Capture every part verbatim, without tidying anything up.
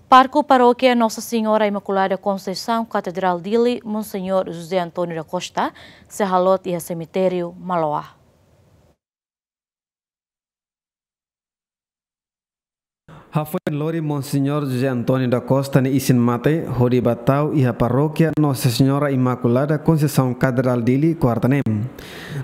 Pároku Parókia Nossa Senhora Imaculada Conceição Katedrál Dili, Monseñór José António da Costa, sei halot iha semitériu Maloa. Hafoin lori Monseñór José António da Costa nia isin-mate hodi ba tau iha Parókia Nossa Senhora Imaculada Conceição Katedrál Dili, kuarta ne'e.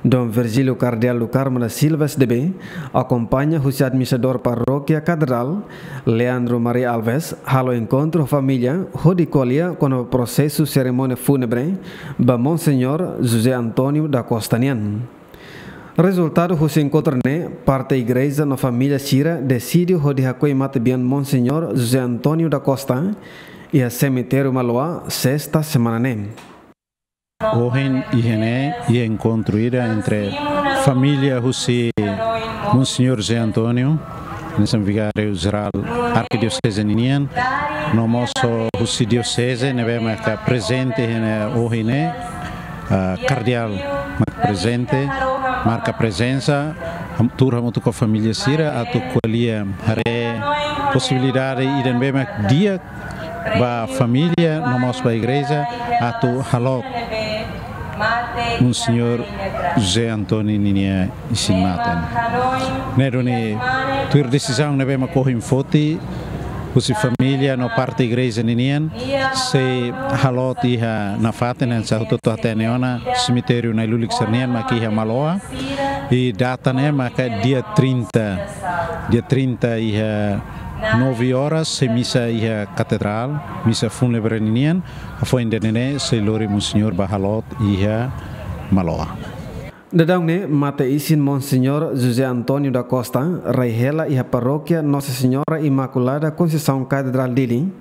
Dom Virgílio Kardeál do Carmo da Silva, S D B, akompaña husi administradór Parókia Katedrál, Leandro Maria Alves, halo enkontru família hodi ko'alia kona-ba prosesu serimónia fúnebre ba Monseñór José António da Costa nian. Rezultadu husi enkontru ne'e, parte igreja no família sira deside hodi hakoi matebian Monseñór José António da Costa iha semitériu Maloa, sesta semana ne'e. Ohin iha ne'e iha enkontru ida entre família husi Monseñór José António, hanesan Vigáriu Jerál Arkidioseze ninian, no mós husi dioseze ne'ebé maka prezente iha ne'e ohin ne'e, ah, kardeál mak prezente, marka prezensa, ham-, tuur hamutuk ho família sira atu ko'alia haree posibilidade ida ne'ebé mak di'ak ba família no mós ba igreja atu halot Monseñór José António ninia isin-mate. Ne'e duni tuir desizaun ne'ebé mak ohin foti husi família no parte igreja ninian, sei halot iha nafatin hanesan hotu-hotu hatene ona, semitériu Na'i-Lulik sira-nian mak iha Maloa. I data ne'e maka dia trinta. Dia trinta iha nove horas sei misa iha katedrál, misa fúnebre ninian, hafoin ida-ne'e sei lori Monseñór ba halot iha Maloa. Daudaun ne'e mate-isin Monseñór José António da Costa rai hela iha Parókia Nossa Senhora Imaculada Conceição Katedrál Dili,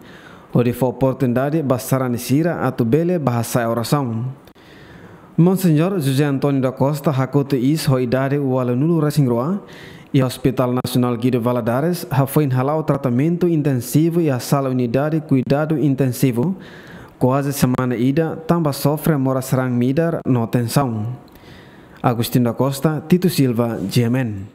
hodi fó oportunidade ba sarani sira atu bele ba hasa'e orasaun. Monseñór José António da Costa hakotu iis ho idade ualunulu-resin-rua iha Hospital Nasionál Guido Valadares, hafoin hala'o tratamentu intensivu iha sala unidade kuidadu intensivu kuaze semana ida, tanba sofre moras raan midar no tensaun. Agostinho da Costa, Tito Silva, G M N.